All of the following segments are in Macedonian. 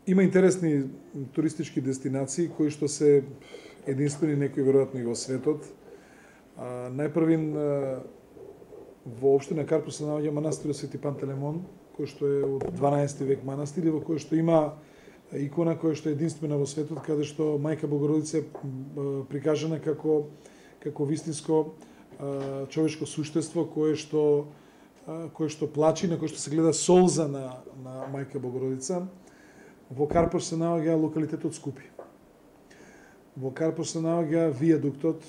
Има интересни туристички дестинации кои што се единствени некои веројатно и во светот. Најпрвин во општина Карпош се наоѓа манастирот Свети Пантелеймон, кој што е од 12 век манастир, во кој што има икона која што е единствена во светот, каде што Мајка Богородица е прикажана како вистинско човечко суштество кое што плачи, на кое што се гледа солза на Мајка Богородица. Во Карпош се наоѓа локалитетот Скупи. Во Карпош се наоѓа вијадуктот.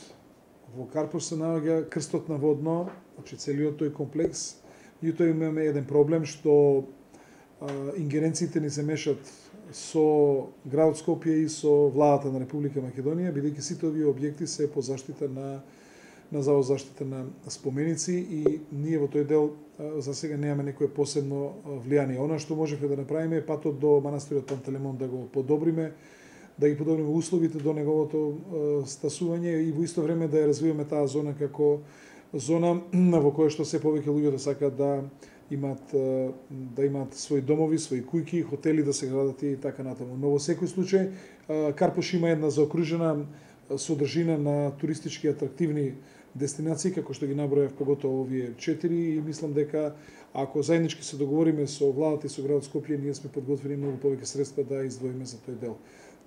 Во Карпош се наоѓа крстот на Водно, значи целиот тој комплекс. Меѓутоа имаме еден проблем што ингеренциите ни се мешат со градот Скопје и со владата на Република Македонија, бидејќи сите овие објекти се по заштита на Завод за заштита на споменици и ние во тој дел за сега немаме некое посебно влијание. Она што можеме да направиме е патот до манастирот Пантелеймон да го подобриме, да ги подобриме условите до неговото стасување и во исто време да ја развиваме таа зона како зона во која што се повеќе луѓето сакаат да имаат своји домови, своји куќи, хотели да се градат и така натаму. Но во секој случај Карпош има една заокружена содржина на туристички атрактивни дестинации, како што ги набројав поготово овие 4 и мислам дека ако заеднички се договориме со владата и со градот Скопје, ние сме подготвени многу повеќе средства да издвоиме за тој дел.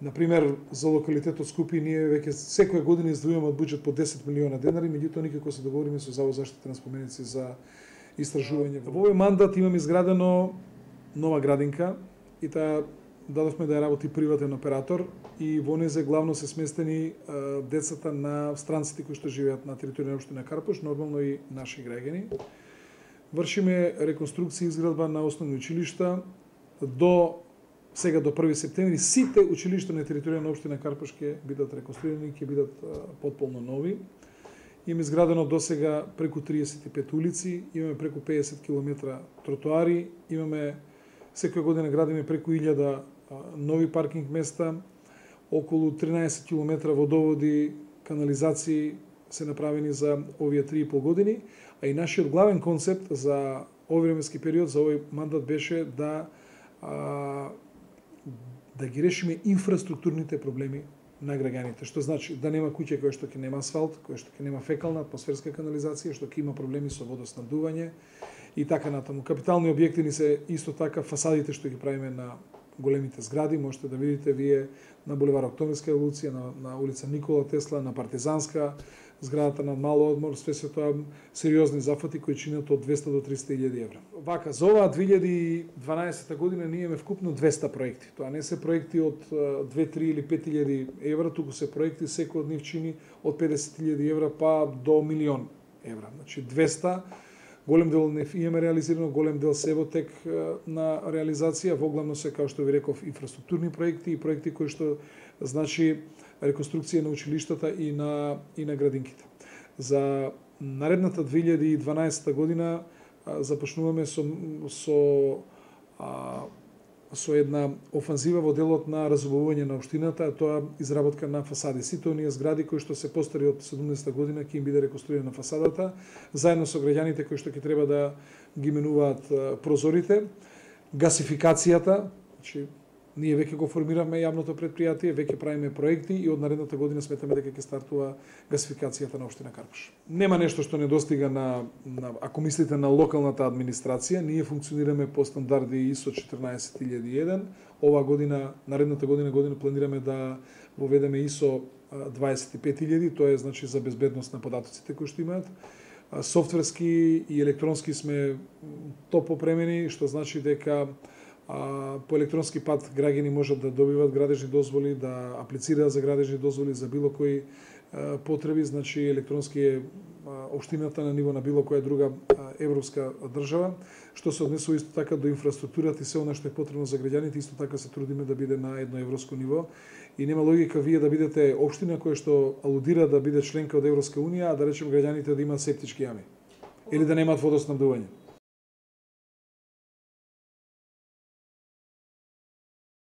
Например, за локалитетот Скупи ние веќе секоја година издвојуваме од буџет по 10 милиона денари, меѓутоа никако се договориме со Завод за заштита на споменици за истражување. Во овој мандат имаме изградено нова градинка и таа дадовме да ја работи приватен оператор и во незе главно се сместени децата на странците кои што живеат на територија на општина Карпош, нормално и наши граѓани. Вршиме реконструкција и изградба на основни училишта до 1 септември. Сите училишта на територија на општина Карпош ќе бидат реконструирани и ќе бидат потполно нови. Имаме изградено до сега преку 35 улици, имаме преку 50 км тротоари, имаме секоја година градиме преку 1000 нови паркинг места, околу 13 км водоводи, канализации се направени за овие 3,5 години, а и нашиот главен концепт за овој временски период, за овој мандат беше да ги решиме инфраструктурните проблеми на граѓаните, што значи да нема куќа која што ќе нема асфалт, која што ќе нема фекална атмосферска канализација, што ќе има проблеми со водоснабдување и така натаму. Капитални објекти ни се исто така фасадите што ги правиме на големите згради, можете да видите вие на булевар Октомврска револуција, на улица Никола Тесла, на Партизанска, зградата на Мало одмор, све се тоа сериозни зафати кои чинат од 200 до 300.000 евра. Вака, за оваа 2012 година ние имаме вкупно 200 проекти. Тоа не се проекти од 2, 3 или 5.000 евра, туку се проекти секој од нив чини од 50.000 евра па до 1.000.000 евра. Значи 200. Голем дел не имаме реализирано, голем дел се во тек на реализација, воглавно се, како што ви реков, инфраструктурни проекти и проекти кои што значи реконструкција на училиштата и на градинките. За наредната 2012 година започнуваме со една офанзива во делот на разубавување на општината, тоа изработка на фасади. Сите оние згради кои што се постари од 70 година ќе им биде реконструирана фасадата, заедно со граѓаните кои што ќе треба да ги менуваат прозорите, гасификацијата, значи ние веќе го формиравме јавното претпријатие, веќе правиме проекти и од наредната година сметаме дека ќе стартува гасификацијата на општина Карпош. Нема нешто што недостига ако мислите на локалната администрација, ние функционираме по стандарди ISO 14001. Ова година, наредната година планираме да воведеме ISO 25000, тоа е значи за безбедност на податоците кои што имаат. Софтверски и електронски сме топ опремени, што значи дека по електронски пат граѓани можат да добиват градежни дозволи, да аплицираат за градежни дозволи за било кои потреби, значи електронски е општината на ниво на било која друга европска држава, што се однесува исто така до инфраструктурата и се она што е потребно за граѓаните, исто така се трудиме да биде на едно европско ниво и нема логика вие да бидете општина која што алудира да биде членка од Европска унија, а да речем граѓаните да имаат септички јами или да немаат водоснабдување.